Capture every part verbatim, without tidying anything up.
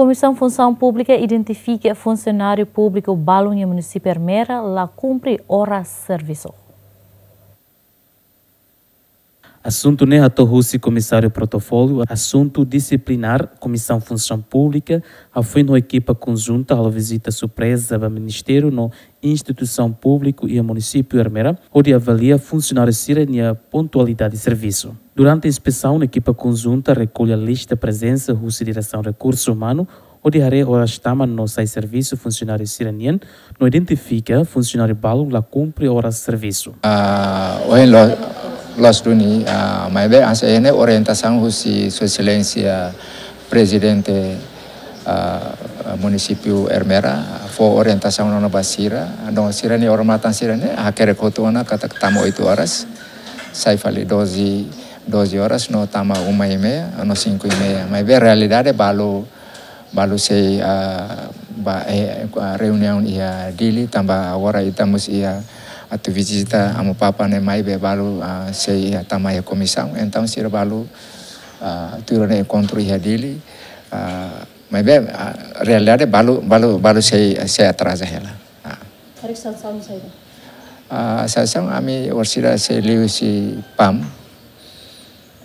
Komisaun Funsaun Públika identifika funsionáriu públiku balun iha munisípiu Ermera la kumpre oras servisu. Asuntu ne'e hato'o husi Komisáriu Protokolu Asuntu Disiplinár Komisaun Funsaun Públika, hafoin ho ekipa konjunta halo vizita surpreza ba Ministériu no instituisaun públiku iha munisípiu Ermera, hodi avalia funsionáriu sira-nia pontualidade servisu. Durante inspesaun, ekipa konjunta rekolla lista prezensa husi Diresaun Rekursu Umanu, hodi haree oras tama no sai servisu funsionáriu sira-nian, no identifika funsionáriu balun la kumpre oras servisu. Ah, ohin lo-, loos duni, ah, maibé hanesan ne'e orientasaun husi Sua Exelénsia Prezidente, ah, munisípiu Ermera, fó orientasaun ona ba sira, no sira-nia odamatan sira-ne'e, hakerek hotu ona katak tama oito horas, sai fali doze, doze horas, no tama uma e meia, no cinco e meia. Maibé realidade balu, balu sei, ah, ba, eh, ah, reuniaun iha Dili, tanba agora ita mós iha atu vizita Amu Papa ne'e maibé balu, ah, sei iha tama iha komisaun. Entaun sira balu, ah, tuir ona enkontru iha Dili, ah, maibé, ah, realidade balu, balu, balu sei, sei atraza hela. Ah. Karik sansaun saida? Ah, sansaun ami orsida sei liuhusi PAM.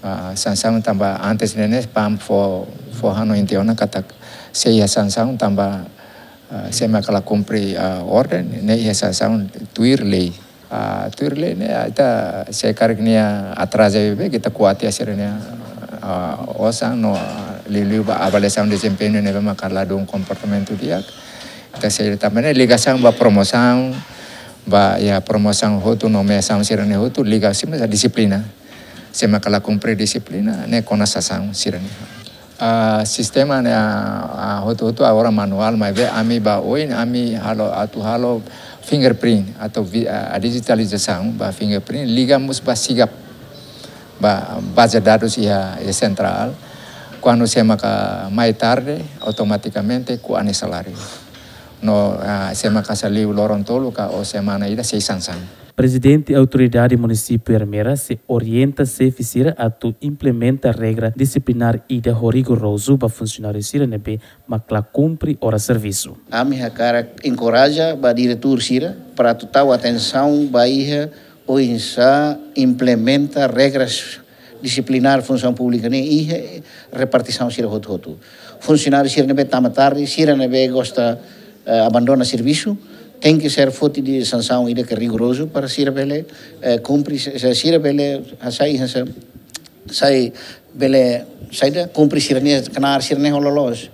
Ah, sansaun tanba antes ne'e ne'e PAM fó, fó hanoin tiha ona katak sei iha sansaun tanba, ah, sé maka la kumpre, ah, orden, ne'e iha sansaun tuir lei. Ah, tuir lei ne'e, ah, ita se karik nia atraza beibeik, ita ko'alia sira-nia, ah, osan no, ah, liuliu ba avaliasaun dezempeñu ne'ebé maka ladún komportamentu di'ak. Ita sei tanba ne'e ligasaun ba promosaun, ba iha promosaun hotu, nomeasaun sira-ne'e hotu, liga husi mós dixiplina. Sé maka la kumpre dixiplina, ne'e kona sansaun sira-ne'e. Ah, sistema ne'e, ah, ah, hotu-hotu agora manuál, maibé ami ba oin, ami halo, atu halo fingerprint, atu vi-, ah, dijitalizasaun ba fingerprint, liga mós ba SIGAP, ba baze dadus iha, iha sentrál. Kuandu sé maka mai tarde, automatikamente ko'a nia saláriu. No, ah, sé maka saliu loron tolu ka ou semana ida sei sansaun. Prezidente Autoridade Munisípiu Ermera sei orienta xefe sira atu implementa regra disiplinár ida ho rigorozu ba funsionáriu sira ne'ebé mak la kumpre oras servisu. Ami hakarak enkoraja ba diretór sira para atu tau atensaun ba iha oinsá implementa regras disiplinár funsaun públika ne'e iha repartisaun sira hotu-hotu. Funsionáriu sira ne'ebé tama tarde, sira ne'ebé gosta, eh, abandona servisu, tenke ser foti de'it sansaun ida ke rigorozu para sira bele, eh, kumpre, se, se sira bele, ah, sai, sai, sai bele, saida, kumpre sira-nia knaar sira-ne'e ho loloos.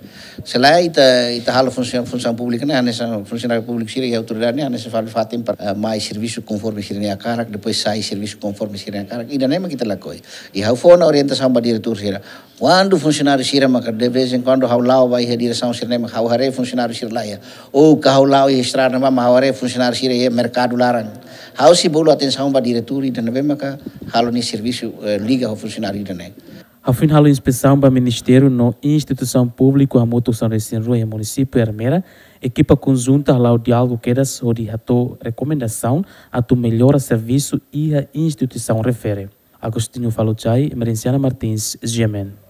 Se lae ita, ita halo funsaun, funsaun públika ne'e, hanesan funsionáriu públiku sira iha autoridade ne'e, hanesan fali fatin para, eh, mai servisu konforme sira-nia hakarak, depois sai servisu konforme sira-nia hakarak. Ida-ne'e mak ita lakohi. I ha'u fó ona orientasaun ba diretór sira. Kuandu funsionáriu sira maka de vez em quando ha'u la'o ba iha diresaun sira-ne'e maka ha'u haree funsionáriu sira la iha. Ou ka ha'u la'o iha estrada ne'ebá maka ha'u haree funsionáriu sira iha merkadu laran. Ha'u sei bolu atensaun ba diretór ida ne'ebé maka halo nia servisu, eh, liga ho funsionáriu ida-ne'e. Hafoin halo inspesaun ba ministériu no instituisaun públiku hamutuk sanulu-resin-rua iha munisípiu Ermera, ekipa konjunta hala'o diálogu kedas hodi hato'o rekomendasaun atu mellora servisu iha instituisaun refere. Agostinho Faluchai, Merenciana Martins, G M N.